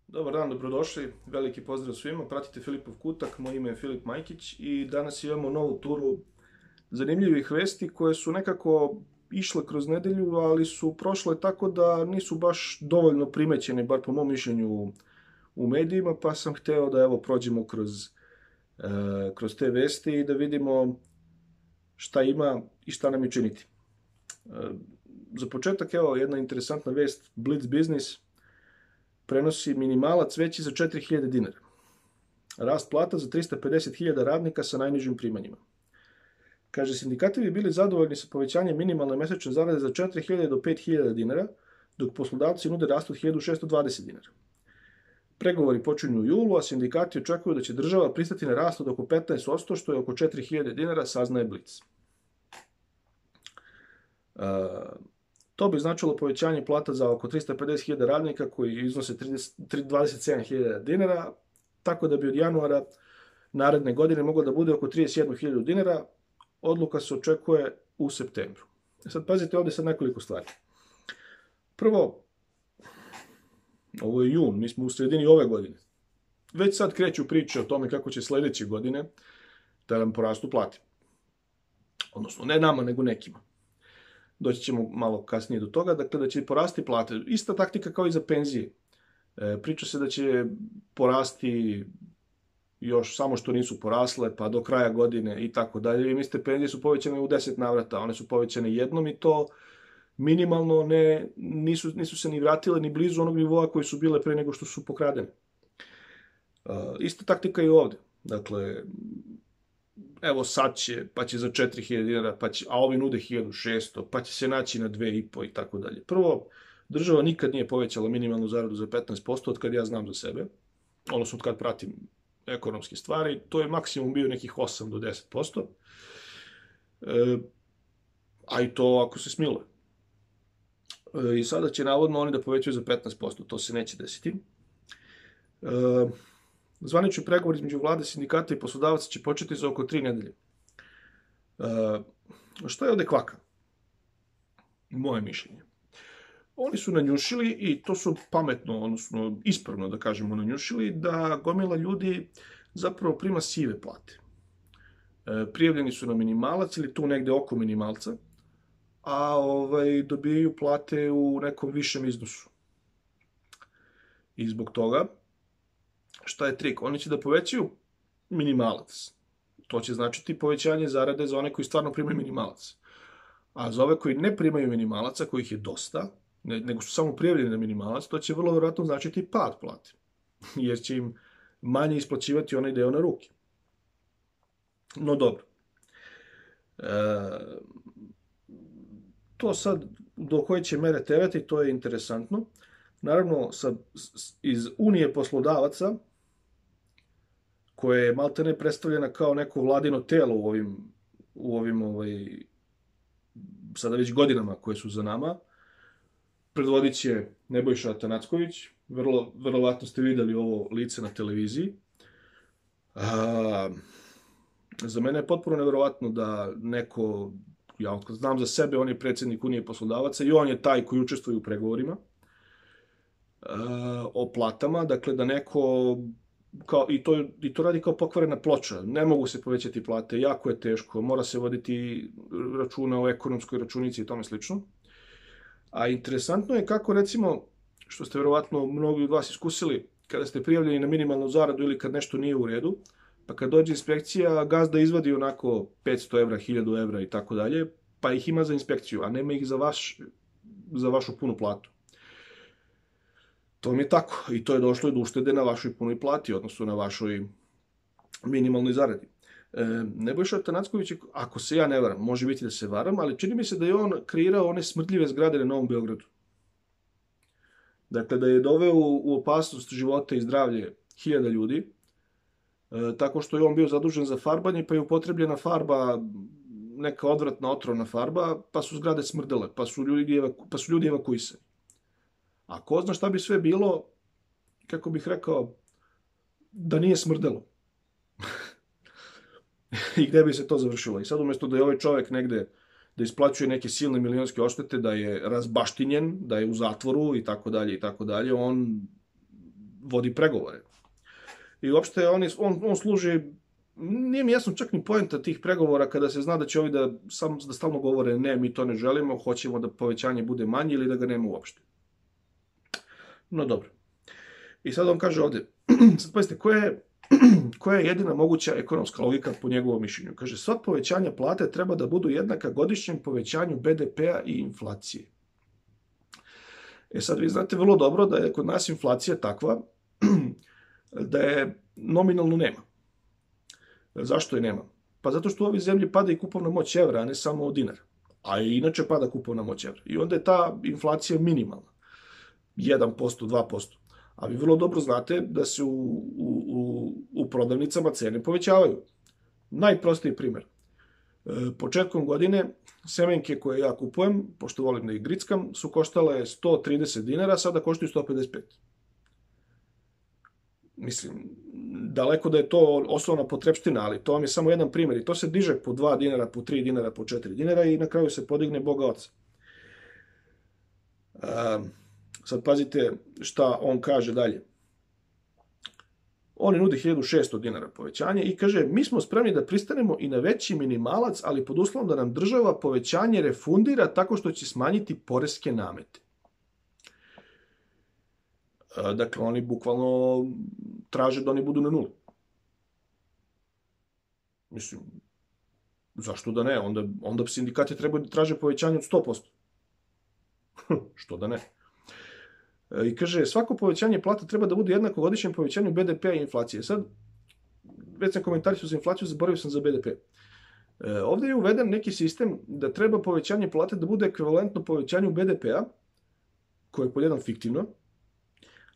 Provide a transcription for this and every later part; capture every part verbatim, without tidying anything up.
Dobar dan, dobrodošli. Veliki pozdrav svima. Pratite Filipov kutak, moje ime je Filip Majkić i danas imamo novu turu zanimljivih vesti koje su nekako išle kroz nedelju, ali su prošle tako da nisu baš dovoljno primećene, bar po mom mišljenju u medijima, pa sam hteo da evo prođemo kroz, e, kroz te vesti i da vidimo šta ima i šta nam je činiti. E, za početak, evo, jedna interesantna vest, Blitz Business prenosi minimalac veći za četiri hiljade dinara. Rast plata za trista pedeset hiljada radnika sa najnižim primanjima. Kaže, sindikati bi bili zadovoljni sa povećanjem minimalne mesečne zarade za četiri hiljade do pet hiljada dinara, dok poslodavci nude rast od hiljadu šessto dvadeset dinara. Pregovori počinju u julu, a sindikati očekuju da će država pristati na rast od oko petnaest posto, što je oko četiri hiljade dinara, saznaje Blitz. Uh, To bi značilo povećanje plata za oko trista pedeset hiljada radnika koji iznose dvadeset sedam hiljada dinara, tako da bi od januara naredne godine moglo da bude oko trideset jednu hiljadu dinara. Odluka se očekuje u septembru. Sad pazite ovde sad nekoliko stvari. Prvo, ovo je jun, mi smo u sredini ove godine. Već sad kreću priče o tome kako će sledeće godine da nam porastu plate. Odnosno, ne nama, nego nekima. Doći ćemo malo kasnije do toga, dakle da će porasti plate. Ista taktika kao i za penzije. E, priča se da će porasti još samo što nisu porasle, pa do kraja godine i tako dalje. Vi mislite, penzije su povećane u deset navrata, one su povećane jednom i to minimalno ne, nisu, nisu se ni vratile ni blizu onog nivoa koji su bile pre nego što su pokradene. E, ista taktika i ovde. Dakle, evo sad će, pa će za četiri hiljade dinara, pa će, a ovi nude hiljadu šesto, pa će se naći na dve i po i tako dalje. Prvo, država nikad nije povećala minimalnu zaradu za petnaest posto od kad ja znam za sebe, odnosno od kad pratim ekonomske stvari, to je maksimum bio nekih osam do deset posto, e, a i to ako se smiluje. E, I sada će navodno oni da povećaju za petnaest posto, to se neće desiti. E, Zvanični pregovor između vlade, sindikata i poslodavaca će početi za oko tri nedelje. E, šta je ovde kvaka? Moje mišljenje. Oni su nanjušili, i to su pametno, odnosno ispravno da kažemo nanjušili, da gomila ljudi zapravo prima sive plate. E, prijavljeni su na minimalac ili tu negde oko minimalca, a ovaj, dobijaju plate u nekom višem iznosu. I zbog toga, šta je trik? Oni će da povećaju minimalac. To će značiti povećanje zarade za one koji stvarno primaju minimalac. A za ove koji ne primaju minimalaca, kojih je dosta, ne, nego su samo prijavljeni na minimalac, to će vrlo vjerojatno značiti pad plate. Jer će im manje isplaćivati onaj deo na ruke. No dobro. E, to sad, do koje će mere terati, to je interesantno. Naravno, sa, iz Unije poslodavaca, koja je maltene predstavljena kao neko vladino telo u ovim, u ovim ovaj, sada već godinama koje su za nama, predvodit će Nebojša Atanacković, vrlo, verovatno ste videli ovo lice na televiziji. A, za mene je potpuno neverovatno da neko, ja otkad znam za sebe, on je predsjednik Unije poslodavaca i on je taj koji učestvuje u pregovorima o platama, dakle da neko, kao, i, to, i to radi kao pokvarena ploča, ne mogu se povećati plate, jako je teško, mora se voditi računa o ekonomskoj računici i tome slično. A interesantno je kako, recimo, što ste verovatno mnogi od vas iskusili, kada ste prijavljeni na minimalnu zaradu ili kad nešto nije u redu, pa kad dođe inspekcija, gazda izvadi onako petsto evra, hiljadu evra i tako dalje, pa ih ima za inspekciju, a nema ih za, vaš, za vašu punu platu. To mi je tako. I to je došlo do uštede na vašoj punoj plati, odnosno na vašoj minimalnoj zaradi. E, Nebojša Atanacković, ako se ja ne varam, može biti da se varam, ali čini mi se da je on kreirao one smrdljive zgrade na Novom Beogradu. Dakle, da je doveo u opasnost života i zdravlje hiljada ljudi, e, tako što je on bio zadužen za farbanje, pa je upotrebljena farba, neka odvratna otrovna farba, pa su zgrade smrdele, pa su ljudi, pa su ljudi evakuisani. A ko zna šta bi sve bilo, kako bih rekao, da nije smrdelo. I gde bi se to završilo. I sad umjesto da je ovaj čovjek negde, da isplaćuje neke silne milionske odštete, da je razbaštinjen, da je u zatvoru i tako dalje i tako dalje, on vodi pregovore. I uopšte on, on, on služi, nije mi jasno čak ni poenta tih pregovora kada se zna da će ovi da, sam, da stalno govore ne, mi to ne želimo, hoćemo da povećanje bude manje ili da ga nema uopšte. No dobro. I sad on kaže ovde, sad pazite, koja je, koja je jedina moguća ekonomska logika po njegovom mišljenju? Kaže, sva povećanja plate treba da budu jednaka godišnjem povećanju be de pea i inflacije. E sad, vi znate vrlo dobro da je kod nas inflacija takva da je nominalno nema. Zašto je nema? Pa zato što u ovoj zemlji pada i kupovna moć evra, a ne samo dinar. A i inače pada kupovna moć evra. I onda je ta inflacija minimalna. jedan posto, dva posto. A vi vrlo dobro znate da se u, u, u prodavnicama cene povećavaju. Najprostiji primjer. Početkom godine semenke koje ja kupujem, pošto volim da ih grickam, su koštale sto trideset dinara, sada koštaju sto pedeset pet. Mislim, daleko da je to osnovna potrepština, ali to vam je samo jedan primjer. I to se diže po dva dinara, po tri dinara, po četiri dinara i na kraju se podigne Boga oca. Um, Sad pazite šta on kaže dalje. On nudi hiljadu šesto dinara povećanje i kaže, mi smo spremni da pristanemo i na veći minimalac, ali pod uslovom da nam država povećanje refundira tako što će smanjiti poreske namete. Dakle, oni bukvalno traže da oni budu na nuli. Mislim, zašto da ne? Onda, onda sindikati trebaju da traže povećanje od sto posto. Što da ne? I kaže, svako povećanje plata treba da bude jednako godišnjem povećanju be de pea i inflacije. Sad, već sam komentarisao za inflaciju, zaboravio sam za be de pe. E, ovdje je uveden neki sistem da treba povećanje plate da bude ekvivalentno povećanju be de pea, koje je po jedan fiktivno,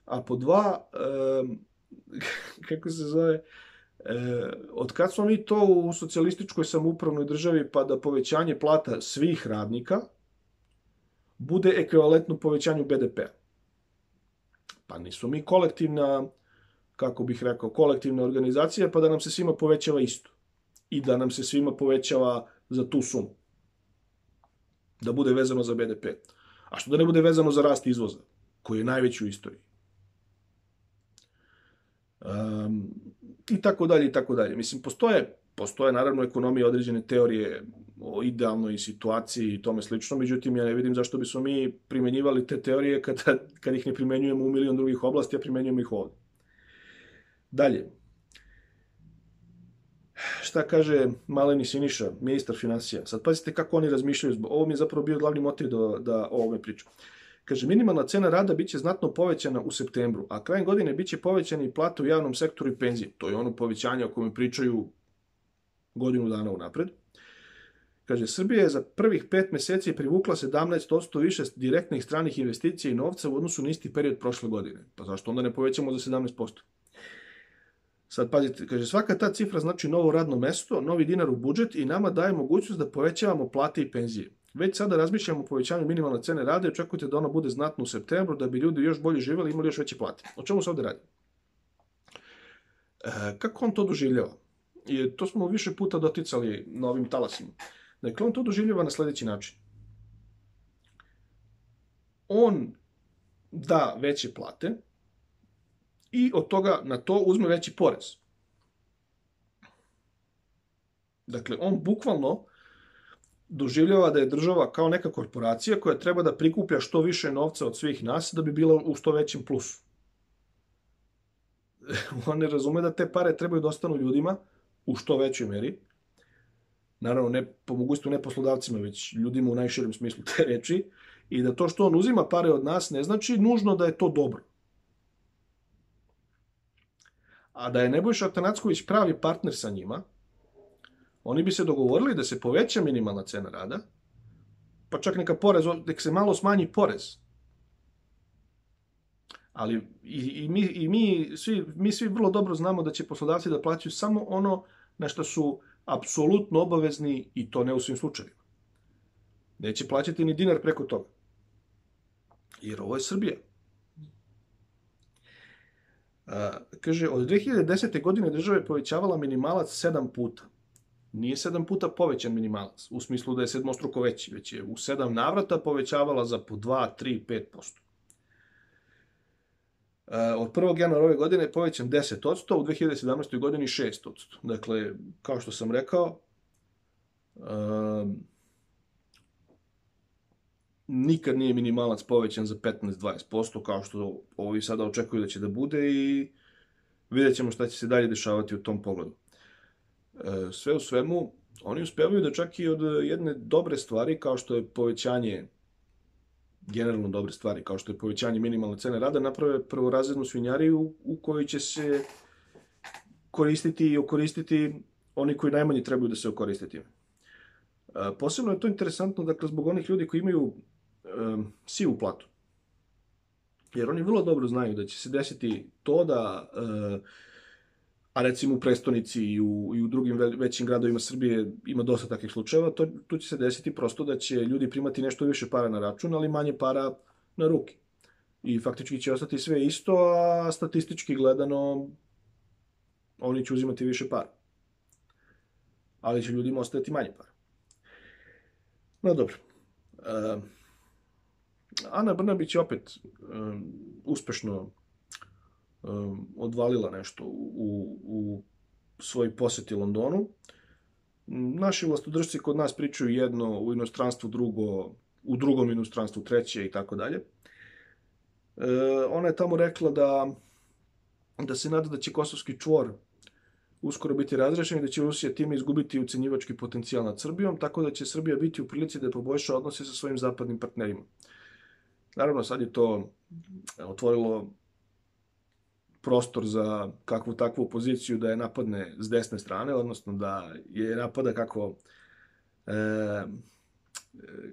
a po dva, e, kako se zove, e, od kad smo mi to u socijalističkoj samoupravnoj državi pa da povećanje plata svih radnika bude ekvivalentno povećanju be de pea. Pa nismo mi kolektivna, kako bih rekao, kolektivna organizacija, pa da nam se svima povećava isto. I da nam se svima povećava za tu sumu. Da bude vezano za be de pe. A što da ne bude vezano za rast izvoza, koji je najveći u istoriji. Um, I tako dalje, i tako dalje. Mislim, postoje, postoje naravno ekonomije određene teorije o idealnoj situaciji i tome slično, međutim, ja ne vidim zašto bismo mi primenjivali te teorije kada, kad ih ne primenjujemo u milion drugih oblasti, a primenjujemo ih ovdje. Dalje. Šta kaže Maleni Siniša, ministar finansija? Sad pazite kako oni razmišljaju. Ovo mi je zapravo bio glavni motiv da, da o ovome pričam. Kaže, minimalna cena rada biće znatno povećana u septembru, a krajem godine biće povećane i plate u javnom sektoru i penzije. To je ono povećanje o kojem pričaju godinu dana unapred. Kaže, Srbija je za prvih pet meseci privukla sedamnaest posto više direktnih stranih investicija i novca u odnosu na isti period prošle godine. Pa zašto onda ne povećamo za sedamnaest posto? Sad pazite, kaže, svaka ta cifra znači novo radno mesto, novi dinar u budžet i nama daje mogućnost da povećavamo plate i penzije. Već sada razmišljamo o povećanju minimalne cene rada i očekujte da ona bude znatno u septembru, da bi ljudi još bolje živjeli i imali još veće plate. O čemu se ovdje radi? E, kako on to doživljava? I to smo više puta doticali na ovim talasima. Dakle, on to doživljava na sljedeći način. On da veće plate i od toga na to uzme veći porez. Dakle, on bukvalno doživljava da je država kao neka korporacija koja treba da prikuplja što više novca od svih nas da bi bila u što većem plusu. On ne razume da te pare trebaju da ostanu ljudima u što većoj meri. Naravno, ne, po mogućstvu ne poslodavcima, već ljudima u najširem smislu te reči. I da to što on uzima pare od nas ne znači nužno da je to dobro. A da je Nebojša Atanacković pravi partner sa njima, oni bi se dogovorili da se poveća minimalna cena rada, pa čak neka porez, nek se malo smanji porez. Ali i, i, mi, i mi, svi, mi svi vrlo dobro znamo da će poslodavci da plaćaju samo ono na što su apsolutno obavezni i to ne u svim slučajevima. Neće plaćati ni dinar preko toga. Jer ovo je Srbija. A, kaže, od dve hiljade desete. godine država je povećavala minimalac sedam puta. Nije sedam puta povećan minimalac, u smislu da je sedmostruko veći, već je u sedam navrata povećavala za po dva, tri, pet posto. Od prvog januara ove godine je povećan deset posto, u dve hiljade sedamnaestoj godini šest posto. Dakle, kao što sam rekao, um, nikad nije minimalac povećan za petnaest do dvadeset posto, kao što ovi sada očekuju da će da bude i vidjet ćemo šta će se dalje dešavati u tom pogledu. Sve u svemu, oni uspevaju da čak i od jedne dobre stvari, kao što je povećanje, generalno dobre stvari, kao što je povećanje minimalne cene rada, naprave prvorazrednu svinjariju u kojoj će se koristiti i okoristiti oni koji najmanje trebaju da se okoriste time. Posebno je to interesantno, dakle, zbog onih ljudi koji imaju um, sivu platu. Jer oni vrlo dobro znaju da će se desiti to da, uh, a recimo u prestonici i u, i u drugim većim gradovima Srbije ima dosta takvih slučajeva, to, tu će se desiti prosto da će ljudi primati nešto više para na račun, ali manje para na ruke. I faktički će ostati sve isto, a statistički gledano oni će uzimati više para. Ali će ljudima ostati manje para. No dobro. Uh, Ana Brnabić je opet um, uspešno um, odvalila nešto u, u svoj poseti Londonu. Naši vlastodržci kod nas pričaju jedno, u inostranstvu drugo, u drugom inostranstvu treće i tako dalje. Ona je tamo rekla da, da se nada da će kosovski čvor uskoro biti razrešen i da će Rusija time izgubiti ucenjivački potencijal nad Srbijom, tako da će Srbija biti u prilici da poboljša odnose sa svojim zapadnim partnerima. Naravno, sad je to otvorilo prostor za kakvu takvu poziciju da je napadne s desne strane, odnosno da je napada kako, e,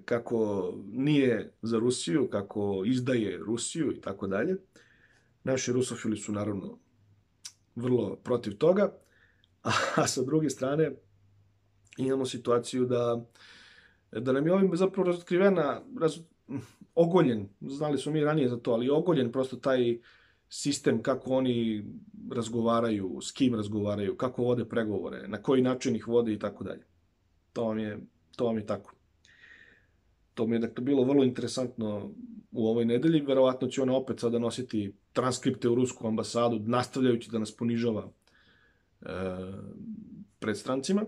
kako nije za Rusiju, kako izdaje Rusiju i tako dalje. Naši rusofili su naravno vrlo protiv toga, a sa druge strane imamo situaciju da, da nam je ovim zapravo razotkrivena, raz, ogoljen, znali smo mi ranije za to, ali ogoljen prosto taj sistem kako oni razgovaraju, s kim razgovaraju, kako vode pregovore, na koji način ih vode i tako dalje. To vam je, to vam je tako. To mi je dakle bilo vrlo interesantno u ovoj nedelji. Verovatno će ona opet sada nositi transkripte u rusku ambasadu, nastavljajući da nas ponižava e, pred strancima.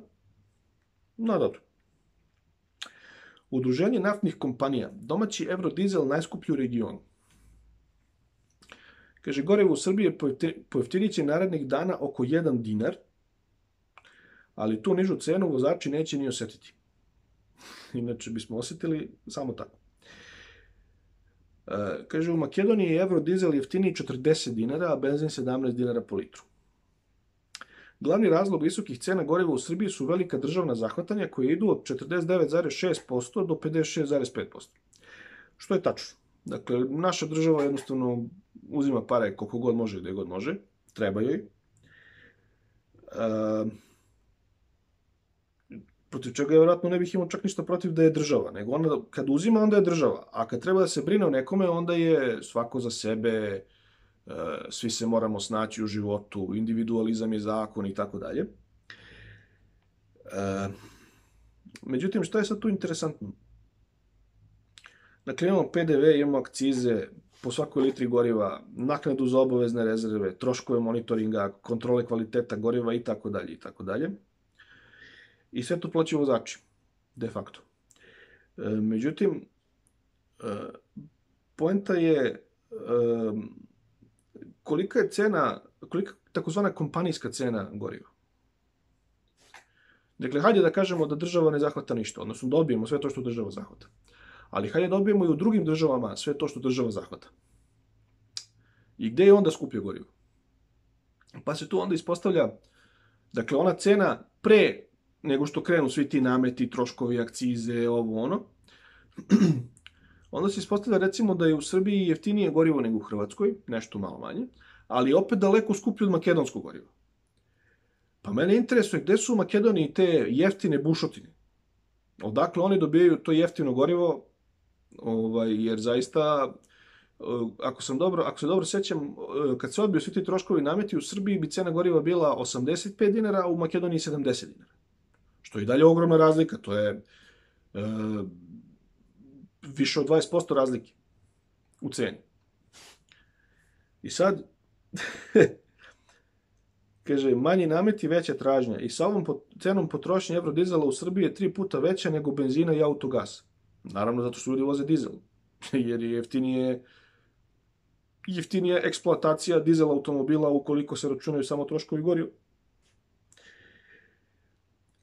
No dobro. Udruženje naftnih kompanija. Domaći Eurodizel najskuplji u regionu. Kaže, gorivo u Srbiji pojeftinit će narednih dana oko jedan dinar, ali tu nižu cenu vozači neće ni osetiti. Inače bismo osetili samo tako. E, kaže, u Makedoniji je Eurodizel jeftiniji četrdeset dinara, a benzin sedamnaest dinara po litru. Glavni razlog visokih cena goriva u Srbiji su velika državna zahvatanja koje idu od četrdeset devet zarez šest posto do pedeset šest zarez pet posto. Što je tačno. Dakle, naša država jednostavno uzima pare koliko god može i gde god može. Treba joj. E, protiv čega je vjerojatno ne bih imao čak ništa protiv da je država, nego ona kad uzima, onda je država. A kad treba da se brine o nekome, onda je svako za sebe, svi se moramo snaći u životu, individualizam je zakon i tako dalje. Međutim, šta je sad tu interesantno? Dakle, imamo P D V, imamo akcize po svakoj litri goriva, naknadu za obavezne rezerve, troškove monitoringa, kontrole kvaliteta goriva i tako dalje i tako dalje. I sve to plaćaju vozači, de facto. Međutim, poenta je kolika je cena, kolika takozvana kompanijska cena goriva. Dakle, hajde da kažemo da država ne zahvata ništa, odnosno dobijemo sve to što država zahvata. Ali hajde dobijemo i u drugim državama sve to što država zahvata. I gde je onda skuplje gorivo? Pa se tu onda ispostavlja, dakle, ona cena pre nego što krenu svi ti nameti, troškovi, akcize, ovo ono, onda se ispostavlja recimo da je u Srbiji jeftinije gorivo nego u Hrvatskoj, nešto malo manje, ali opet daleko skuplje od makedonskog goriva. Pa mene interesuje gde su u Makedoniji te jeftine bušotine. Odakle oni dobijaju to jeftino gorivo, ovaj, jer zaista, ako, sam dobro, ako se dobro sećam, kad se odbiju svi ti troškovi nameti, u Srbiji bi cena goriva bila osamdeset pet dinara, a u Makedoniji sedamdeset dinara. Što je i dalje ogromna razlika, to je e, više od dvadeset posto razlike u ceni. I sad, kaže, manji nameti, veća tražnja. I sa ovom cenom potrošnje evrodizela u Srbiji je tri puta veća nego benzina i autogasa. Naravno, zato što ljudi voze dizel. Jer je jeftinije, jeftinija eksploatacija dizel automobila ukoliko se računaju samo troškovi goriva.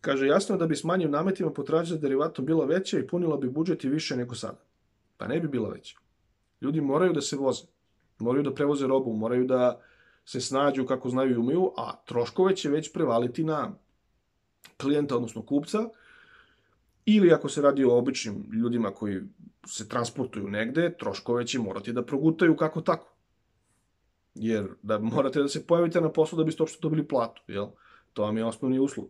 Kaže, jasno je da bi s manjim nametima potražnja za derivatom bila veća i punila bi budžet i više nego sada. Pa ne bi bila veća. Ljudi moraju da se voze. Moraju da prevoze robu, moraju da se snađu kako znaju i umeju, a troškove će već prevaliti na klijenta, odnosno kupca, ili ako se radi o običnim ljudima koji se transportuju negde, troškove će morati da progutaju kako tako. Jer da morate da se pojavite na poslu da biste uopšte dobili platu, jel? To vam je osnovni uslov.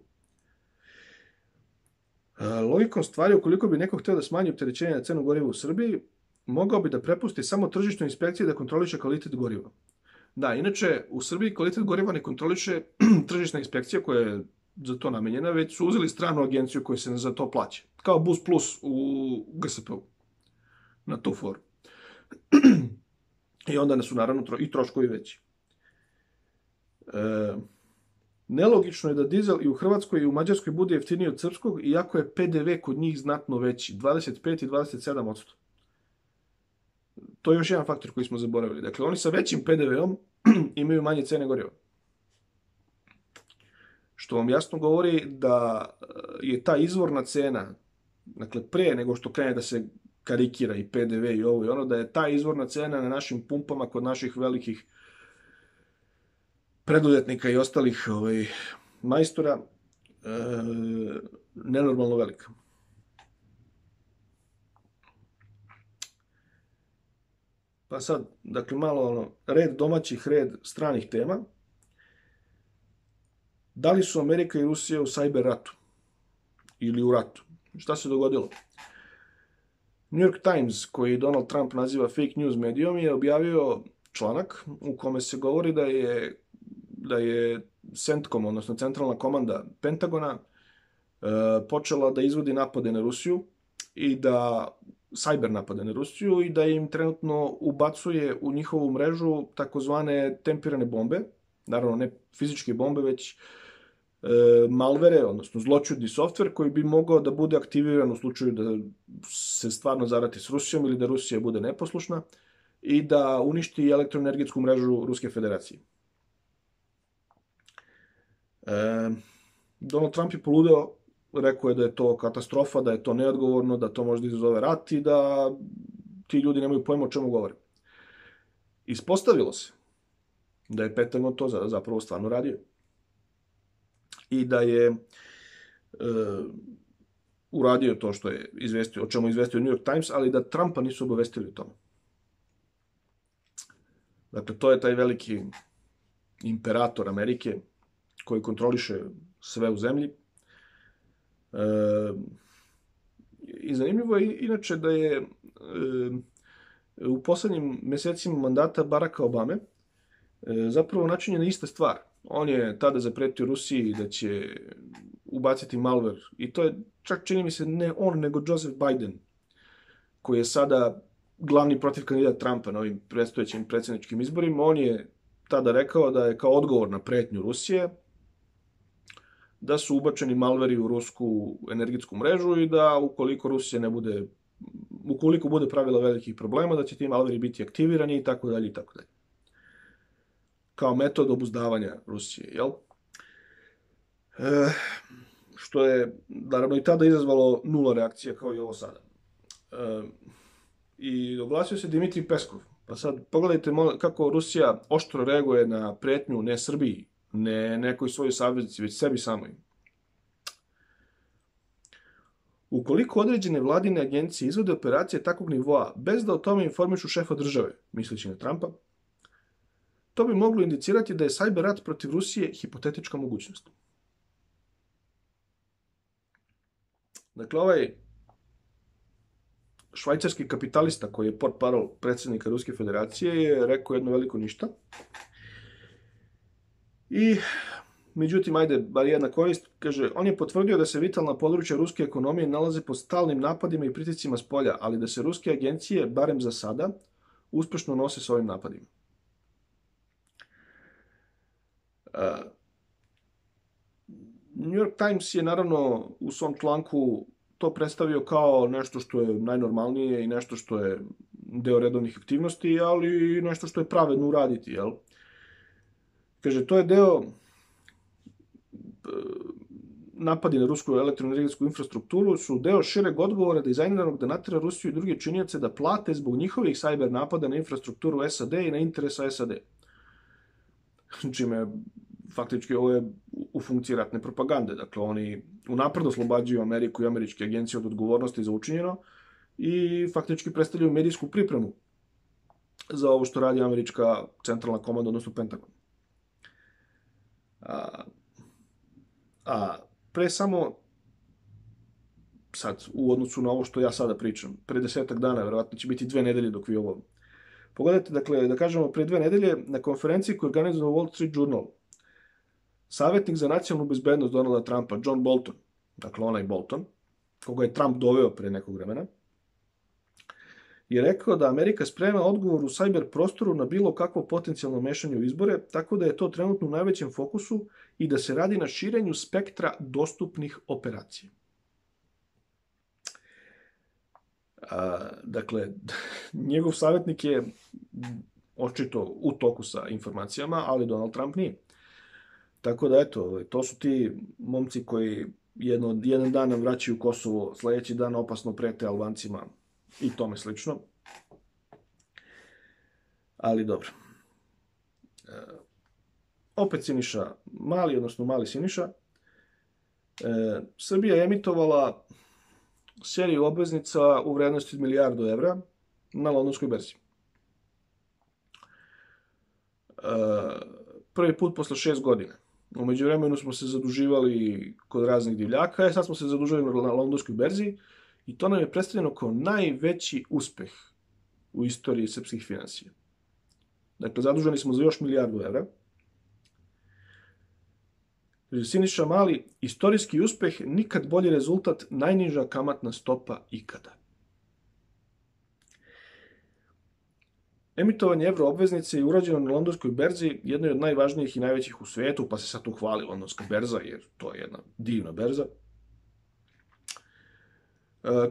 Logikom stvari, ukoliko bi neko hteo da smanji opterećenje na cenu goriva u Srbiji, mogao bi da prepusti samo tržišnoj inspekciji da kontroliše kvalitet goriva. Da, inače, u Srbiji kvalitet goriva ne kontroliše tržišna inspekcija koja je za to namenjena, već su uzeli stranu agenciju koja se za to plaća. Kao Bus Plus u G S P-u. Na tu foru. I onda su naravno i troškovi veći. E, nelogično je da dizel i u Hrvatskoj i u Mađarskoj bude jeftiniji od srpskog, iako je P D V kod njih znatno veći, dvadeset pet i dvadeset sedam posto. To je još jedan faktor koji smo zaboravili. Dakle, oni sa većim P D V-om imaju manje cene goriva. Što vam jasno govori da je ta izvorna cena, dakle, pre nego što krene da se karikira i P D V i ovo i ono, da je ta izvorna cena na našim pumpama kod naših velikih preduzetnika i ostalih ovaj, majstora e, nenormalno velika. Pa sad, dakle, malo ono, red domaćih, red stranih tema. Da li su Amerika i Rusija u sajber ratu? Ili u ratu? Šta se dogodilo? New York Times, koji Donald Trump naziva fake news medijom, je objavio članak u kome se govori da je, da je CENTCOM, odnosno centralna komanda Pentagona, e, počela da izvodi napade na Rusiju i da sajber napade na Rusiju i da im trenutno ubacuje u njihovu mrežu takozvane tempirane bombe, naravno ne fizičke bombe, već e, malvere, odnosno zloćudni softver koji bi mogao da bude aktiviran u slučaju da se stvarno zarati s Rusijom ili da Rusija bude neposlušna i da uništi elektroenergetsku mrežu Ruske federacije. E, Donald Trump je poludeo, rekao je da je to katastrofa, da je to neodgovorno, da to može da izazove rat i da ti ljudi nemaju pojma o čemu govore. Ispostavilo se da je Pentagon to zapravo stvarno radio. I da je e, uradio to što je izvestio, o čemu je izvestio New York Times, ali da Trumpa nisu obavestili o tome. Dakle, to je taj veliki imperator Amerike koji kontroliše sve u zemlji. E, I zanimljivo je inače da je e, u poslednjim mesecima mandata Baracka Obame e, zapravo načinjena ista stvar. On je tada zapretio Rusiji da će ubaciti malware i to je čak čini mi se ne on nego Joseph Biden koji je sada glavni protiv kandidat Trumpa na ovim predstojećim predsjedničkim izborima. On je tada rekao da je kao odgovor na pretnju Rusije da su ubačeni malveri u rusku energetsku mrežu i da ukoliko Rusija ne bude, ukoliko bude pravila velikih problema, da će ti malveri biti aktivirani i tako dalje i tako dalje. Kao metod obuzdavanja Rusije, jel? E, što je, naravno, i tada izazvalo nula reakcija kao i ovo sada. E, I oglasio se Dimitrij Peskov. Pa sad pogledajte kako Rusija oštro reaguje na pretnju ne Srbiji, ne nekoj svojoj saveznici, već sebi samoj. Ukoliko određene vladine agencije izvode operacije takvog nivoa bez da o tome informišu šefa države, misleći na Trumpa, to bi moglo indicirati da je sajber rat protiv Rusije hipotetička mogućnost. Dakle, ovaj švajcarski kapitalista koji je portparol predsjednika Ruske federacije je rekao jedno veliko ništa. I, međutim, ajde, bar jedna korist, kaže, on je potvrdio da se vitalna područja ruske ekonomije nalaze pod stalnim napadima i pritiscima s polja, ali da se ruske agencije, barem za sada, uspešno nose s ovim napadima. New York Times je naravno u svom članku to predstavio kao nešto što je najnormalnije i nešto što je deo redovnih aktivnosti, ali i nešto što je pravedno uraditi, jel? Kaže, to je deo napadi na rusku elektroenergetsku infrastrukturu su deo šireg odgovora dizajniranog da natera Rusiju i druge činioce da plate zbog njihovih sajber napada na infrastrukturu S A D i na interesa S A D. Čime, faktički, ovo je u funkciji ratne propagande. Dakle, oni unapred oslobađaju Ameriku i američke agencije od odgovornosti za učinjeno i faktički predstavljaju medijsku pripremu za ovo što radi američka centralna komanda, odnosno Pentagon. A, a pre samo, sad, u odnosu na ovo što ja sada pričam, pre desetak dana, verovatno će biti dve nedelje dok vi ovo pogledajte, dakle, da kažemo, pre dve nedelje na konferenciji koju je organizovao Wall Street Journal, savjetnik za nacionalnu bezbednost Donalda Trumpa, John Bolton, dakle onaj Bolton, koga je Trump doveo pre nekog vremena, je rekao da Amerika sprema odgovor u sajber prostoru na bilo kakvo potencijalno mešanje u izbore, tako da je to trenutno u najvećem fokusu i da se radi na širenju spektra dostupnih operacija. A, dakle, njegov savjetnik je očito u toku sa informacijama, ali Donald Trump nije. Tako da, eto, to su ti momci koji jedno, jedan dan nam vraćaju Kosovo, sledeći dan opasno prete Albancima i tome slično. Ali dobro. E, opet Siniša Mali, odnosno Mali Siniša. E, Srbija je emitovala seriju obveznica u vrednosti od milijardu evra na londonskoj berzi. E, prvi put posle šest godina. U međuvremenu smo se zaduživali kod raznih divljaka, a sad smo se zadužili na londonskoj berzi i to nam je predstavljeno kao najveći uspeh u istoriji srpskih finansija. Dakle, zaduženi smo za još milijardu evra. Siniša Mali, istorijski uspeh, nikad bolji rezultat, najniža kamatna stopa ikada. Emitovanje evroobveznice je urađeno na londonskoj berzi, jednoj od najvažnijih i najvećih u svetu, pa se sad tu hvali londonska berza, jer to je jedna divna berza.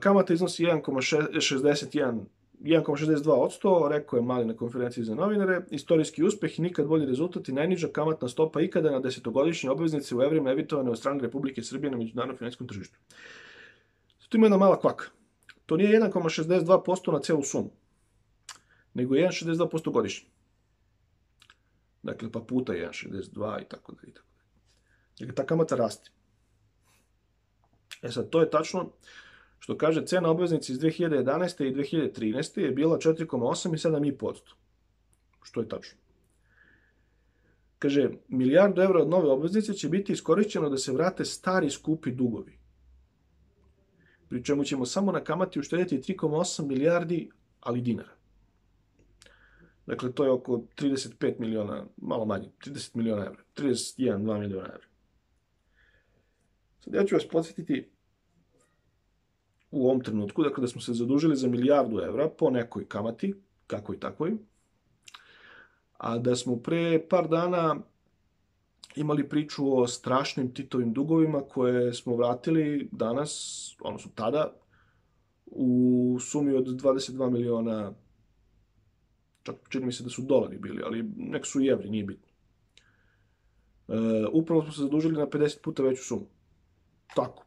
Kamata iznosi jedan zarez šezdeset jedan jedan zarez šezdeset dva posto, rekao je Mali na konferenciji za novinare. Istorijski uspeh i nikad bolji rezultat i najniža kamatna stopa ikada na desetogodišnje obveznice u evrima emitovane od strane Republike Srbije na međunarodnom finansijskom tržištu. Tu ima jedna mala kvaka. To nije jedan zarez šezdeset dva posto na celu sumu, nego jedan zarez šezdeset dva posto godišnje. Dakle, pa puta jedan zarez šezdeset dva i tako dalje. Dakle, ta kamata raste. E sad, to je tačno što kaže cena obveznice iz dve hiljade jedanaeste i dve hiljade trinaeste je bila četiri zarez osam i sedam zarez pet posto. Što je tačno. Kaže, milijardu evra od nove obveznice će biti iskorišćeno da se vrate stari skupi dugovi. Pri čemu ćemo samo na kamati uštedjeti tri zarez osam milijardi, ali dinara. Dakle, to je oko trideset pet miliona, malo manje, trideset miliona evra. trideset jedan, dva miliona evra. Sad ja ću vas podsjetiti u ovom trenutku, dakle da smo se zadužili za milijardu evra po nekoj kamati, kakvoj takvoj, a da smo pre par dana imali priču o strašnim Titovim dugovima koje smo vratili danas, odnosno tada, u sumi od dvadeset dva miliona, čak čini mi se da su dolari bili, ali nek su i evri, nije bitno. E, upravo smo se zadužili na pedeset puta veću sumu. Tako.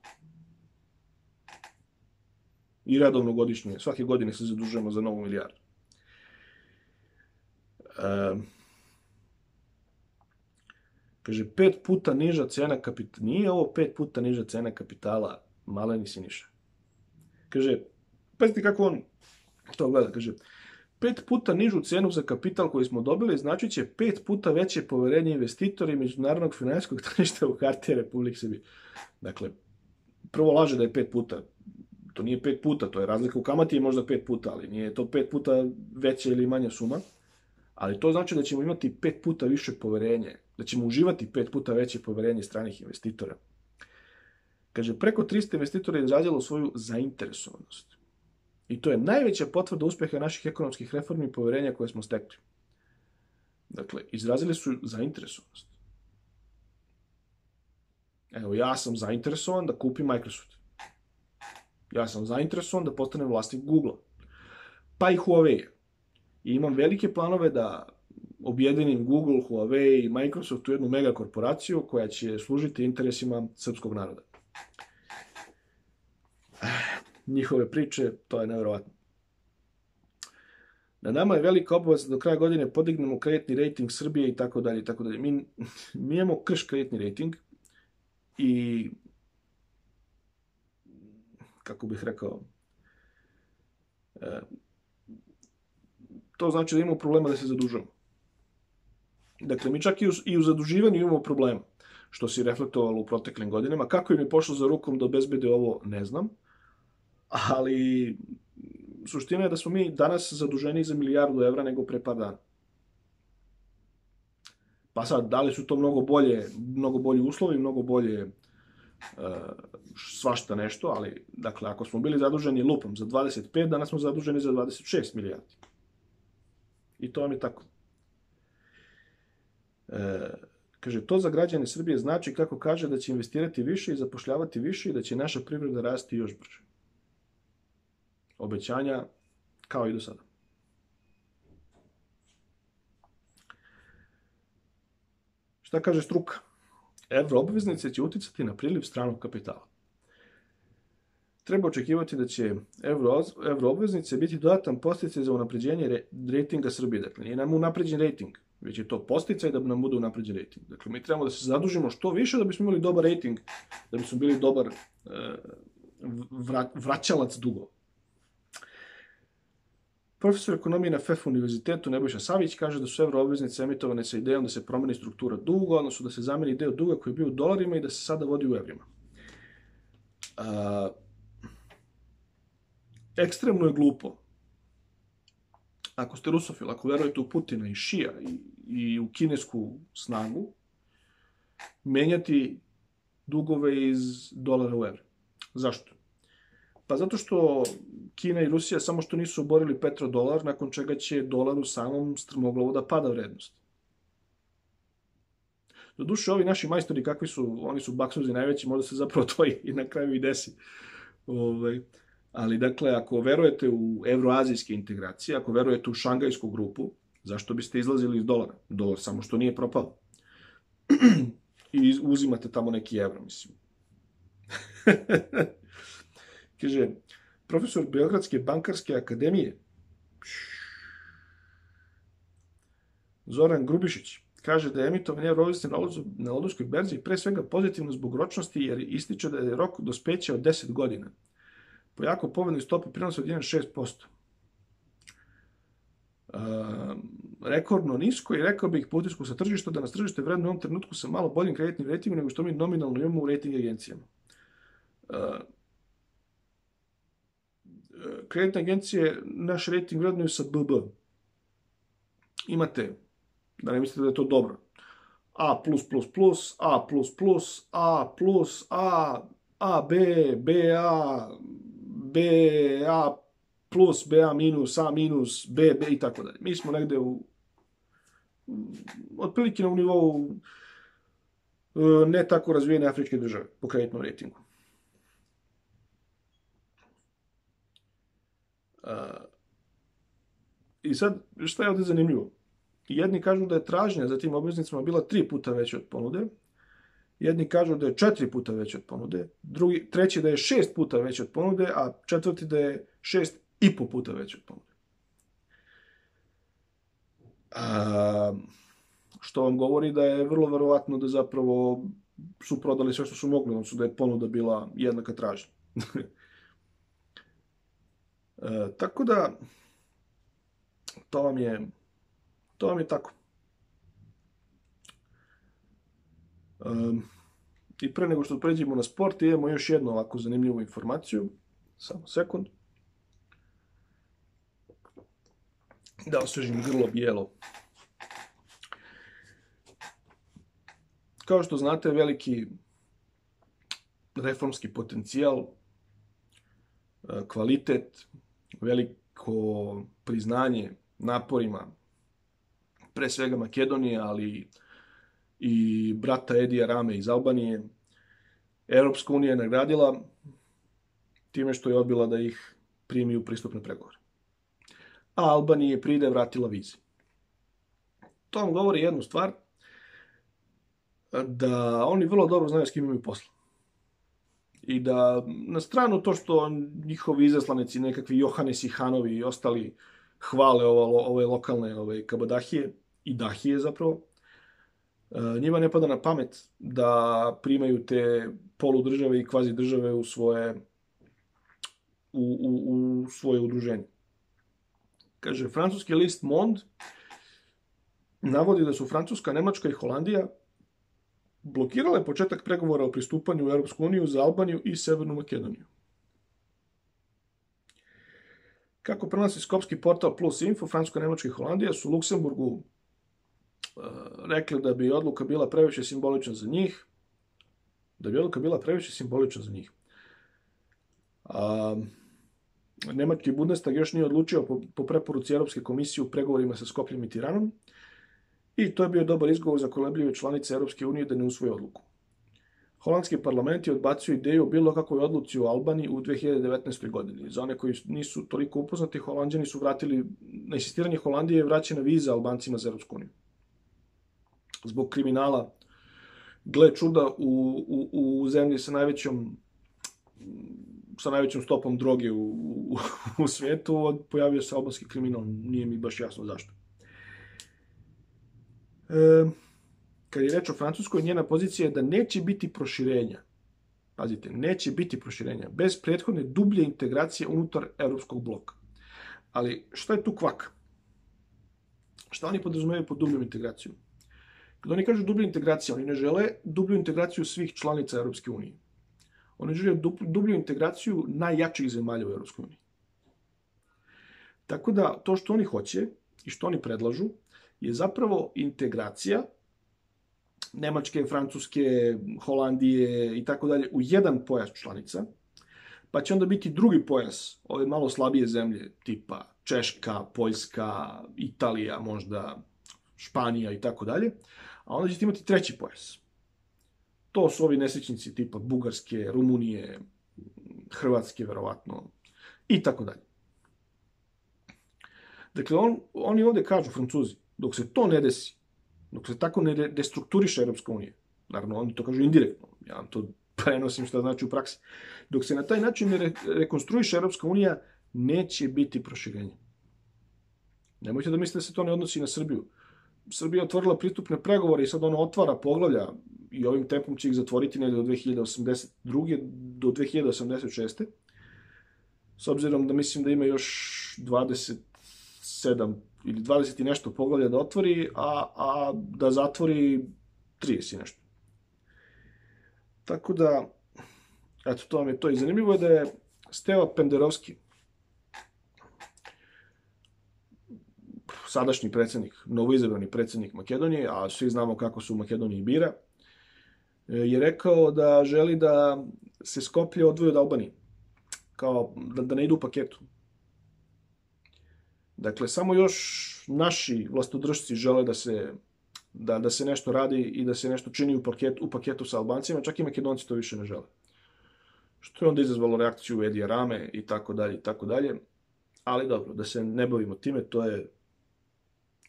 I redovno godišnje, svake godine se zadužujemo za novu milijardu. E, kaže, pet puta niža cena kapitala, nije ovo pet puta niža cena kapitala, Maleni Siniša. Kaže, pazite kako on to gleda, kaže, pet puta nižu cenu za kapital koji smo dobili znači će pet puta veće poverenje investitora i međunarodnog finansijskog tržišta u hartije Republike Srbije. Dakle, prvo laže da je pet puta. To nije pet puta, to je razlika u kamati je možda pet puta, ali nije to pet puta veća ili manja suma. Ali to znači da ćemo imati pet puta više poverenje, da ćemo uživati pet puta veće poverenje stranih investitora. Kaže, preko tristo investitora je izrazilo svoju zainteresovanost. I to je najveća potvrda uspeha naših ekonomskih reformi i poverenja koje smo stekli. Dakle, izrazili su zainteresovanost. Evo, ja sam zainteresovan da kupim Microsoft. Ja sam zainteresovan da postanem vlasnik Google-a. Pa i Huawei. I imam velike planove da objedinim Google, Huawei i Microsoft u jednu mega korporaciju koja će služiti interesima srpskog naroda. Njihove priče, to je nevjerovatno. Na nama je velika obaveza do kraja godine podignemo kreditni rating Srbije i tako dalje i tako dalje. Mi, mi imamo krš kreditni rating i kako bih rekao, to znači da imamo problema da se zadužujemo. Dakle, mi čak i u, i u zaduživanju imamo problema, što se reflektovalo u proteklim godinama. Kako im je pošlo za rukom da obezbede ovo, ne znam, ali suština je da smo mi danas zaduženi za milijardu evra nego pre par dana. Pa sad, da li su to mnogo bolje, mnogo bolji uslovi, mnogo bolje uh, svašta nešto, ali, dakle, ako smo bili zaduženi lupom za dvadeset pet, danas smo zaduženi za dvadeset šest milijardi. I to vam je tako. E, kaže, to za građane Srbije znači, kako kaže, da će investirati više i zapošljavati više i da će naša privreda rasti još brže. Obećanja kao i do sada. Šta kaže struka? Evroobveznice će uticati na priliv stranog kapitala. Treba očekivati da će evroobveznice biti dodatan podsticaj za unapređenje rejtinga Srbije. Dakle, nije nam unapređen rejting, već je to podsticaj da nam bude unapređen rejting. Dakle, mi trebamo da se zadužimo što više da bismo imali dobar rejting, da bismo bili dobar vraćalac dugova. Profesor ekonomije na F E F univerzitetu Nebojša Savić kaže da su evroobveznice emitovane sa idejom da se promeni struktura duga, odnosno da se zameni deo duga koji je bio u dolarima i da se sada vodi u evrima. A, ekstremno je glupo. Ako ste rusofil, ako verujete u Putina i Šija i, i u kinesku snagu, menjati dugove iz dolara u evre. Zašto? Pa zato što Kina i Rusija samo što nisu oborili petrodolar, nakon čega će dolar u samom strmoglavu da pada vrednost. Doduše, ovi naši majstori, kakvi su, oni su baksuzi najveći, možda se zapravo to i na kraju i desi. Ove, ali, dakle, ako verujete u evroazijske integracije, ako verujete u šangajsku grupu, zašto biste izlazili iz dolara? Dolar samo što nije propao. I uzimate tamo neki evro, mislim. Kaže, profesor Beogradske bankarske akademije Zoran Grubišić kaže da je emitovanje evroobveznice na Londonskoj berzi pre svega pozitivno zbog ročnosti, jer ističe da je rok dospeća od deset godina. Po jako povoljnoj stopi prinosa od jedan zarez šest posto. Uh, rekordno nisko i rekao bih po utisku sa tržišta da nas tržište vredno u ovom trenutku sa malo boljim kreditnim rejtingom nego što mi nominalno imamo u rejting agencijama. Uh, kreditne agencije naš rejting vrednuju sa B B. Imate, da ne mislite da je to dobro, A plus plus plus, A plus plus, A plus, A, A B, B A, B A plus, B A minus, A minus, B, B i tako dalje. Mi smo negde u, otprilike na nivou ne tako razvijene afričke države po kreditnom rejtingu. I sad, šta je ovdje zanimljivo? Jedni kažu da je tražnja za tim obveznicama bila tri puta veća od ponude, jedni kažu da je četiri puta veća od ponude, drugi, treći da je šest puta veća od ponude, a četvrti da je šest i po puta veća od ponude. A, što vam govori da je vrlo verovatno da zapravo su prodali sve što su mogli, odnosno da je ponuda bila jednaka tražnja. E, tako da, to vam je, to vam je tako. E, I pre nego što pređemo na sport, imamo još jednu ovako zanimljivu informaciju. Samo sekund. Da osvežim grlo bijelo. Kao što znate, veliki reformski potencijal, kvalitet, veliko priznanje naporima, pre svega Makedonije, ali i brata Edija Rame iz Albanije, Europska unija je nagradila time što je odbila da ih primi u pristupne pregovore. A Albaniji je pride vratila vize. To vam govori jednu stvar, da oni vrlo dobro znaju s kim imaju posla. I da na stranu to što njihovi izaslanici, nekakvi Johanesi, Hanovi i ostali hvale ovo, ove lokalne ove kabadahije i dahije zapravo, njima ne pada na pamet da primaju te poludržave i kvazi države u svoje, u, u, u svoje udruženje. Kaže, francuski list Monde navodi da su Francuska, Nemačka i Holandija blokirale početak pregovora o pristupanju u Europsku uniju za Albaniju i Severnu Makedoniju. Kako prenosi skopski portal Plus Info, Francuska, Nemačka i Holandija su Luksemburgu uh, rekli da bi odluka bila previše simbolična za njih, da bi odluka bila previše simbolična za njih. A, Nemački Bundestag još nije odlučio po, po preporuci Europske komisije u pregovorima sa Skopljem i Tiranom i to je bio dobar izgovor za kolebljive članice Europske unije da ne usvoje odluku. Holandski parlament je odbacio ideju o bilo kakvoj odluci u Albaniji u dve hiljade devetnaestoj. godini. Za one koji nisu toliko upoznati, Holanđani su vratili, na insistiranje Holandije je vraćena viza Albancima za Europsku uniju. Zbog kriminala, gle čuda, u, u, u zemlji sa najvećom sa najvećom stopom droge u, u, u svijetu, pojavio se albanski kriminal, nije mi baš jasno zašto. E, kad je reč o Francuskoj, njena pozicija je da neće biti proširenja. Pazite, neće biti proširenja, bez prethodne dublje integracije unutar europskog bloka. Ali šta je tu kvaka? Šta oni podrazumevaju pod dubljom integracijom? Kad oni kažu dublja integracija, oni ne žele dublju integraciju svih članica Europske unije. Oni žele dublju integraciju najjačih zemalja u Europskoj uniji. Tako da to što oni hoće i što oni predlažu je zapravo integracija Nemačke, Francuske, Holandije i tako dalje u jedan pojas članica, pa će onda biti drugi pojas, ove malo slabije zemlje, tipa Češka, Poljska, Italija, možda Španija i tako dalje, a onda ćete imati treći pojas. To su ovi nesrećnici tipa Bugarske, Rumunije, Hrvatske, verovatno, i tako dalje. Dakle, on, oni ovdje kažu, Francuzi, dok se to ne desi, dok se tako ne destrukturiše Europska unija, naravno, oni to kažu indirektno, ja vam to prenosim što znači u praksi, dok se na taj način ne re rekonstruiše Europska unija, neće biti proširenja. Nemojte da mislite da se to ne odnosi na Srbiju. Srbija je otvorila pristupne pregovore i sad ono otvara poglavlja i ovim tempom će ih zatvoriti negdje do dve hiljade osamdeset druge do dve hiljade osamdeset šeste. S obzirom da mislim da ima još dvadeset sedam ili dvadeset i nešto poglavlja da otvori, a, a da zatvori trideset i nešto. Tako da, eto, to vam je to. I zanimljivo je da je Steva Penderovski, sadašnji predsjednik, novoizabrani predsjednik Makedonije, a svi znamo kako su u Makedoniji bira, je rekao da želi da se Skoplje odvoji od Albanije, kao da, da ne idu u paketu. Dakle, samo još naši vlastodržci žele da se, da, da se nešto radi i da se nešto čini u paketu, u paketu sa Albancima, čak i Makedonci to više ne žele. Što je onda izazvalo reakciju Edija Rame i tako dalje i tako dalje. Ali dobro, da se ne bavimo time, to je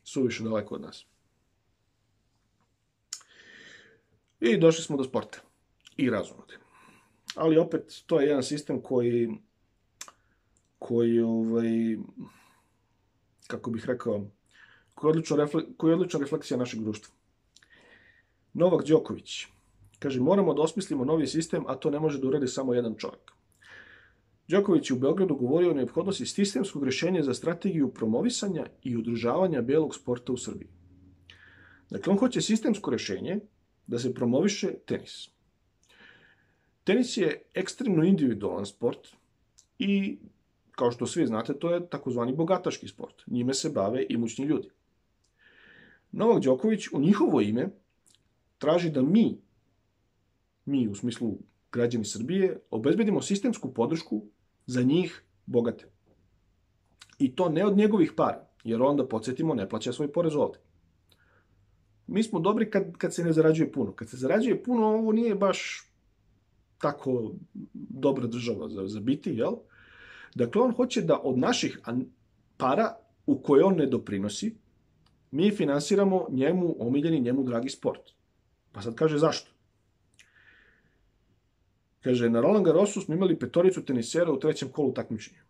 suviše daleko od nas. I došli smo do sporta i razumode. Ali opet, to je jedan sistem koji, koji ovaj, kako bih rekao, koji je odlična, refle, koji je odlična refleksija našeg društva. Novak Đoković kaže, moramo da osmislimo novi sistem, a to ne može da uradi samo jedan čovjek. Đoković je u Beogradu govorio o neophodnosti sistemskog rješenja za strategiju promovisanja i održavanja belog sporta u Srbiji. Dakle, on hoće sistemsko rješenje da se promoviše tenis. Tenis je ekstremno individualan sport i, kao što svi znate, to je takozvani bogataški sport. Njime se bave imućni ljudi. Novak Đoković u njihovo ime traži da mi, mi u smislu građani Srbije, obezbedimo sistemsku podršku za njih bogate. I to ne od njegovih para, jer onda, podsjetimo, ne plaća svoj porez ovdje. Mi smo dobri kad, kad se ne zarađuje puno. Kad se zarađuje puno, ovo nije baš tako dobra država za, za biti, jel? Dakle, on hoće da od naših para u koje on ne doprinosi, mi finansiramo njemu omiljeni, njemu dragi sport. Pa sad kaže zašto? Kaže, na Roland Garrosu smo imali petoricu tenisera u trećem kolu takmičenja.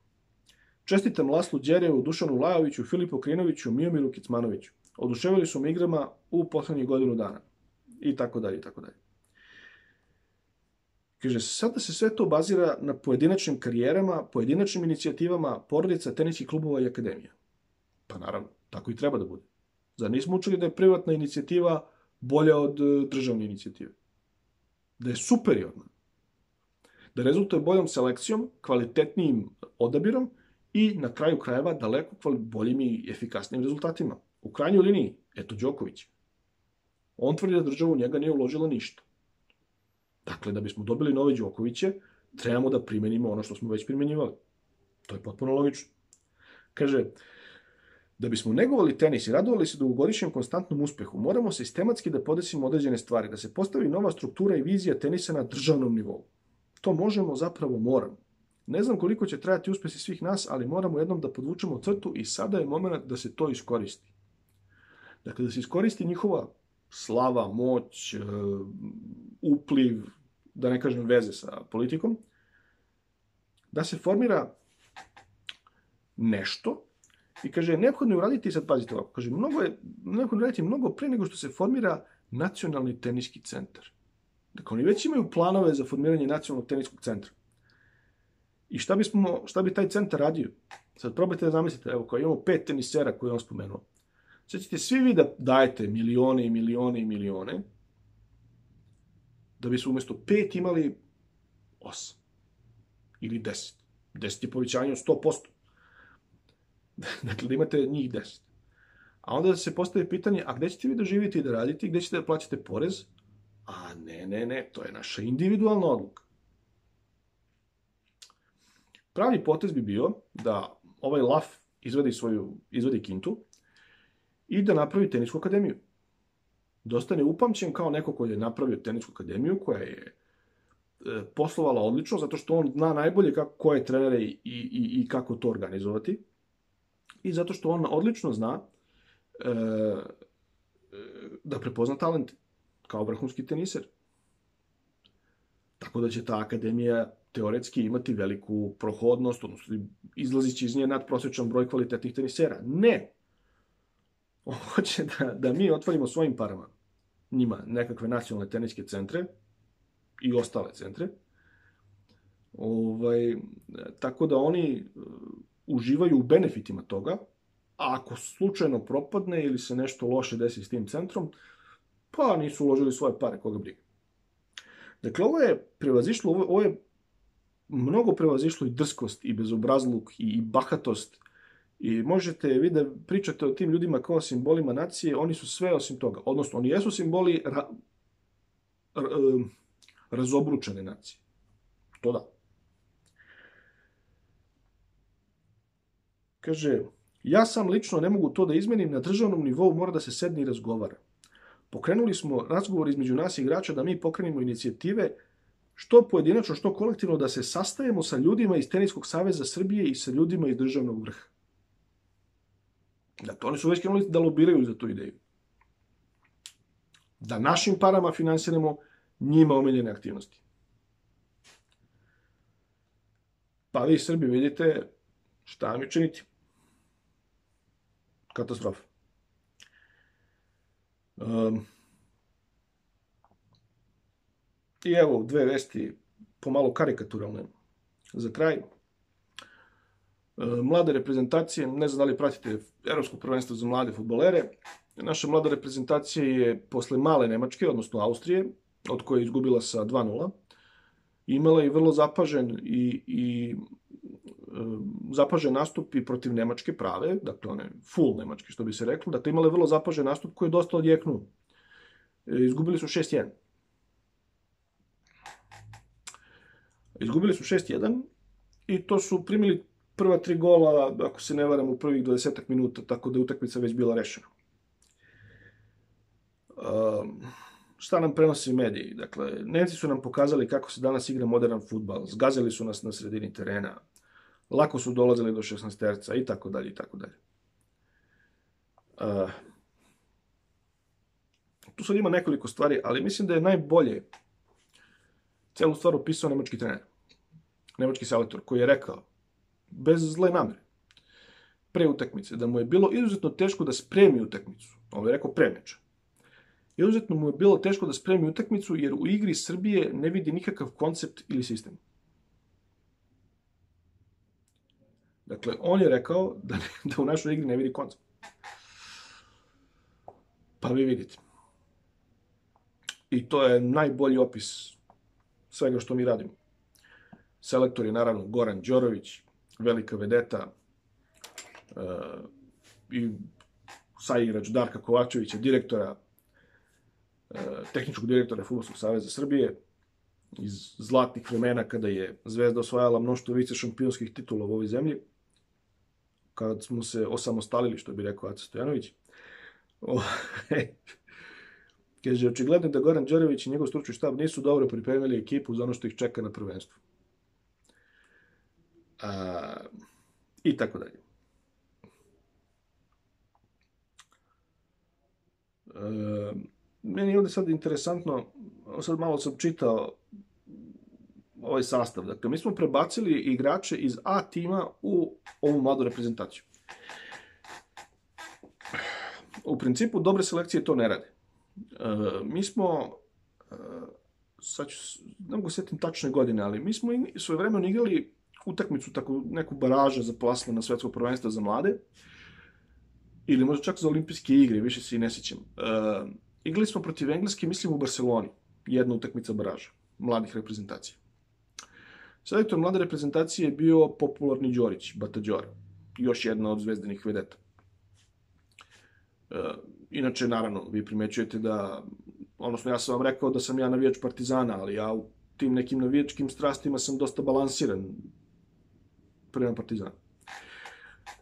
Čestitam Laslu Đerevu, Dušanu Lajoviću, Filipu Krinoviću, Miomiru Kecmanoviću. Oduševili su me igrama u poslednjih godinu dana. I tako dalje, i tako dalje. Kaže, sada se sve to bazira na pojedinačnim karijerama, pojedinačnim inicijativama, porodica, teniskih klubova i akademija. Pa naravno, tako i treba da bude. Zar nismo učili da je privatna inicijativa bolja od državne inicijative? Da je superiorna. Da rezultuje boljom selekcijom, kvalitetnijim odabirom i na kraju krajeva daleko boljim i efikasnijim rezultatima. U krajnjoj liniji, eto Đoković. On tvrdi da država u njega nije uložila ništa. Dakle, da bismo dobili nove Đokoviće, trebamo da primenimo ono što smo već primenjivali. To je potpuno logično. Kaže, da bismo negovali tenis i radovali se dugogodišnjem konstantnom uspehu, moramo sistematski da podesimo određene stvari, da se postavi nova struktura i vizija tenisa na državnom nivou. To možemo, zapravo moramo. Ne znam koliko će trajati uspesi svih nas, ali moramo jednom da podvučemo crtu i sada je moment da se to iskoristi. Dakle, da se iskoristi njihova slava, moć, upliv, da ne kažem veze sa politikom, da se formira nešto i kaže, neophodno je uraditi, sad pazite ovako, kaže, mnogo je, neophodno je uraditi mnogo pre nego što se formira nacionalni teniski centar. Dakle, oni već imaju planove za formiranje nacionalnog teniskog centra. I šta, bismo, šta bi taj centar radio? Sad probajte da zamislite, evo, kao imamo pet tenisera koje je on spomenuo. Sad ćete svi vi da dajete milione i milione i milione, da bi se umjesto pet imali osam. Ili deset. Deset je povećanje od sto posto. Dakle, da imate njih deset. A onda se postavi pitanje, a gde ćete vi da živite i da radite i gde ćete da plaćate porez? A ne, ne, ne, to je naša individualna odluka. Pravi potez bi bio da ovaj Laf izvedi svoju, izvedi kintu i da napravi tenisku akademiju. Da ostane upamćen kao neko koji je napravio tenisku akademiju, koja je e, poslovala odlično, zato što on zna najbolje kako, koje trenere i, i, i kako to organizovati. I zato što on odlično zna e, da prepozna talent kao vrhunski teniser. Tako da će ta akademija teoretski imati veliku prohodnost, odnosno izlazit će iz nje nadprosječan broj kvalitetnih tenisera. Ne! On hoće da, da mi otvorimo svojim parama njima nekakve nacionalne teniske centre i ostale centre. Ovaj, tako da oni uživaju u benefitima toga, a ako slučajno propadne ili se nešto loše desi s tim centrom, pa nisu uložili svoje pare, koga briga. Dakle, ovo je prevazišlo, ovo, ovo je mnogo prevazišlo i drskost, i bezobrazluk, i, i bahatost. I možete vi da pričate o tim ljudima kao simbolima nacije, oni su sve osim toga. Odnosno, oni jesu simboli ra, ra, razobručene nacije. To da. Kaže, ja sam lično ne mogu to da izmenim, na državnom nivou mora da se sedne i razgovara. Pokrenuli smo razgovor između nas igrača da mi pokrenemo inicijative što pojedinačno, što kolektivno, da se sastajemo sa ljudima iz Teniskog saveza Srbije i sa ljudima iz državnog vrha. Dakle, oni su već krenuli da lobiraju za tu ideju. Da našim parama finansiramo njima omiljene aktivnosti. Pa vi Srbi vidite šta mi činiti. Katastrofa. Um, I evo dve vesti pomalo karikaturalne za kraj. Mlade reprezentacije, ne znam da li pratite Evropsko prvenstvo za mlade fudbalere, naša mlada reprezentacija je posle male Nemačke, odnosno Austrije, od koje je izgubila sa dva nula, imala i vrlo zapažen i, i zapažen nastup i protiv Nemačke prave, dakle one full Nemačke, što bi se reklo, dakle imala je vrlo zapažen nastup koji je dosta odjeknuo. Izgubili su šest jedan. Izgubili su šest jedan i to su primili prva tri gola, ako se ne varam, u prvih dvadesetak minuta, tako da je utakmica već bila rešena. Um, šta nam prenosi mediji? Dakle, Nemci su nam pokazali kako se danas igra modern fudbal, zgazili su nas na sredini terena, lako su dolazili do šesnaesterca i tako dalje i tako dalje. Uh, tu sad ima nekoliko stvari, ali mislim da je najbolje celu stvar opisao nemački trener, nemački selektor, koji je rekao, bez zle namere, pre utakmice, da mu je bilo izuzetno teško da spremi utakmicu. On je rekao pre meča. Izuzetno mu je bilo teško da spremi utakmicu, jer u igri Srbije ne vidi nikakav koncept ili sistem. Dakle, on je rekao da, ne, da u našoj igri ne vidi koncept. Pa vi vidite. I to je najbolji opis svega što mi radimo. Selektor je naravno Goran Đorović, velika vedeta, uh, i saigrač Darka Kovačevića, direktora, uh, tehničkog direktora Fudbalskog saveza Srbije, iz zlatnih vremena kada je Zvezda osvajala mnoštvo vice šampionskih titula u ovoj zemlji, kad smo se osamostalili, što bi rekao Aca Stojanović. Oh, kaže, očigledno da Goran Đorović i njegov stručni štab nisu dobro pripremili ekipu za ono što ih čeka na prvenstvu. A, I tako dalje. E, meni je ovdje sad interesantno, sad malo sam čitao ovaj sastav. Dakle, mi smo prebacili igrače iz A tima u ovu mladu reprezentaciju. U principu, dobre selekcije to ne rade. Uh, mi smo, uh, sad ću, ne mogu sjetim tačne godine, ali mi smo svojevremeno igrali utakmicu, tako neku baraža za plasman na svetsko prvenstvo za mlade, ili možda čak za olimpijske igre, više se i ne sjećam. Uh, igrali smo protiv Engleske, mislim u Barceloni, jedna utakmica baraža, mladih reprezentacija. Selektor mlade reprezentacije je bio popularni Đorić, Bata Đora, još jedna od zvezdanih vedeta. Uh, inače, naravno, vi primećujete da, odnosno ja sam vam rekao da sam ja navijač Partizana, ali ja u tim nekim navijačkim strastima sam dosta balansiran prema Partizanu.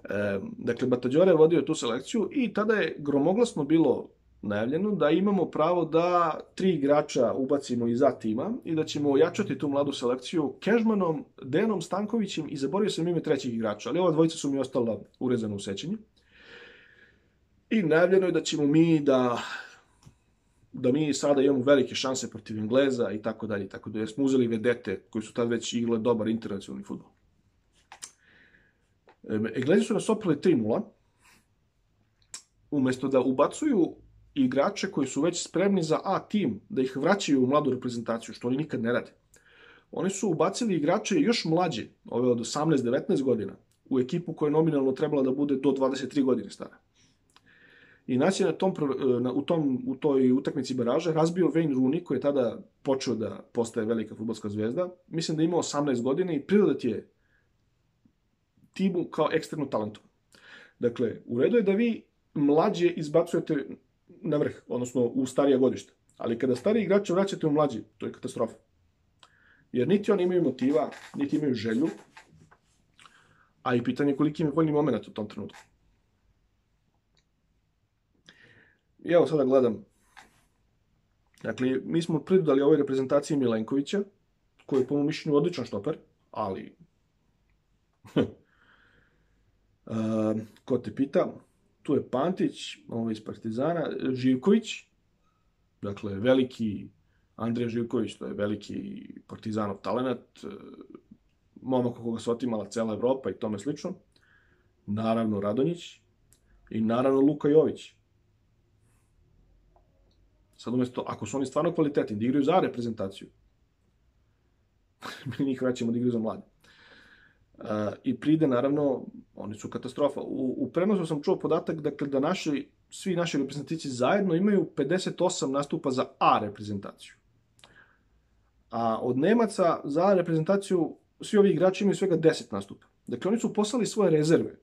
E, dakle, Bata Đora je vodio tu selekciju i tada je gromoglasno bilo najavljeno da imamo pravo da tri igrača ubacimo iz A tima i da ćemo ojačati tu mladu selekciju Kežmanom, Dejanom Stankovićem i zaboravio sam ime trećih igrača, ali ova dvojica su mi ostala urezana u sećanju. I najavljeno je da ćemo mi da, da mi sada imamo velike šanse protiv Engleza i tako dalje, tako da jer smo uzeli vedete koji su tad već igrali dobar internacionalni fudbal. Englezi su nas oprali tri nula, umjesto da ubacuju igrače koji su već spremni za A tim, da ih vraćaju u mladu reprezentaciju, što oni nikad ne rade. Oni su ubacili igrače još mlađe, ove od osamnaest devetnaest godina, u ekipu koja je nominalno trebala da bude do dvadeset tri godine stara. I nas je na tom, na, u, tom, u toj utakmici baraža razbio Wayne Rooney, koji je tada počeo da postaje velika fudbalska zvezda. Mislim da je imao osamnaest godina i prirodat je timu kao eksternu talentu. Dakle, u redu je da vi mlađe izbacujete na vrh, odnosno u starija godišta. Ali kada stariji igrače vraćate u mlađi, to je katastrofa. Jer niti oni imaju motiva, niti imaju želju, a i pitanje koliki im je voljni moment u tom trenutku. I evo sada gledam. Dakle, mi smo pridodali ovoj reprezentaciji Milenkovića, koji je po mom mišljenju odličan štoper, ali uh, ko te pita, tu je Pantić, ovo iz Partizana, Živković, dakle, veliki Andrija Živković, to je veliki Partizanov talenat, momak koga se otimala cela Evropa i tome slično, naravno Radonjić i naravno Luka Jović. Sad umjesto, ako su oni stvarno kvalitetni, da igraju za reprezentaciju, mi njih vraćamo da igraju za mlade. Uh, I pride, naravno, oni su katastrofa. U, u prenosu sam čuo podatak dakle, da naši, svi naši reprezentativci zajedno imaju pedeset osam nastupa za A reprezentaciju. A od Nemaca za A reprezentaciju svi ovi igrači imaju svega deset nastupa. Dakle, oni su poslali svoje rezerve.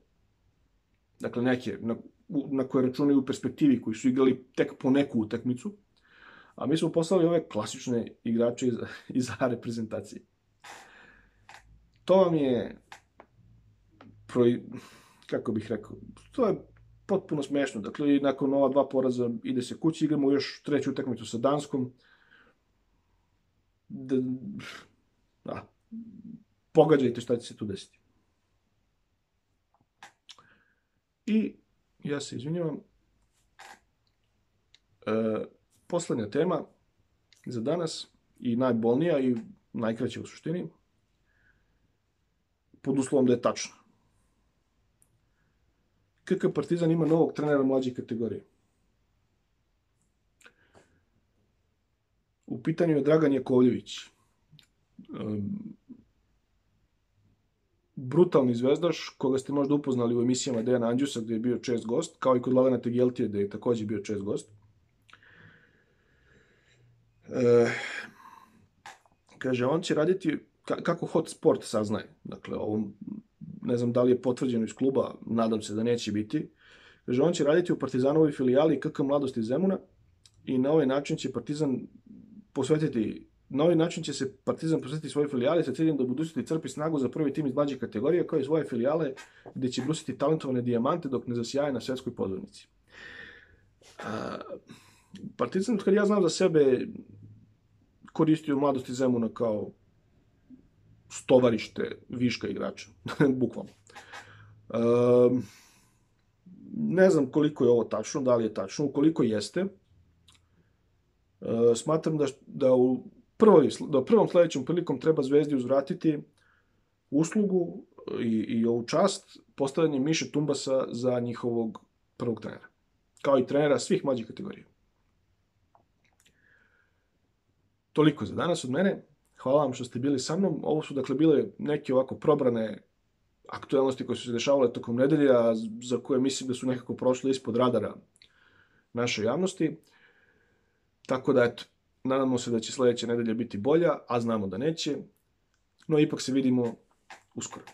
Dakle, neke na, na koje računaju u perspektivi, koji su igrali tek po neku utakmicu. A mi smo poslali ove klasične igrače iz, iz A reprezentacije. To vam je, kako bih rekao, to je potpuno smešno. Dakle, i nakon ova dva poraza ide se kući, igramo još treću utakmicu sa Danskom. Da, da, pogađajte šta će se tu desiti. I ja se izvinjavam. E, poslednja tema za danas i najbolnija i najkraća u suštini, pod uslovom da je tačno. K K Partizan ima novog trenera mlađe kategorije. U pitanju je Dragan Jakovljević. Brutalni zvezdaš, koga ste možda upoznali u emisijama Dejana Andjusa, gde je bio čest gost, kao i kod Lavena Tegeltije, gde je takođe bio čest gost. E, kaže, on će raditi, kako Hot Sport saznaje, dakle, ovo, ne znam da li je potvrđeno iz kluba, nadam se da neće biti, kaže, on će raditi u Partizanovoj filijali K K Mladosti Zemuna i na ovaj način će Partizan posvetiti, na ovaj način će se Partizan posvetiti svoje filijale sa ciljem da u budućnosti crpi snagu za prvi tim iz mlađe kategorije, kao i svoje filijale gde će brusiti talentovane dijamante dok ne zasjaje na svetskoj pozornici. Partizan, kad ja znam za sebe, koristio Mladosti Zemuna kao stovarište viška igrača, bukvalno. Um, ne znam koliko je ovo tačno, da li je tačno, ukoliko jeste, uh, smatram da, da, u prvoj, da u prvom sledećem prilikom treba Zvezdi uzvratiti uslugu i, i ovu čast postavljanje Miše Tumbasa za njihovog prvog trenera, kao i trenera svih mlađih kategorija. Toliko za danas od mene. Hvala vam što ste bili sa mnom. Ovo su dakle bile neke ovako probrane aktuelnosti koje su se dešavale tokom nedelje, a za koje mislim da su nekako prošle ispod radara naše javnosti. Tako da, eto, nadamo se da će sledeća nedelja biti bolja, a znamo da neće. No, ipak se vidimo uskoro.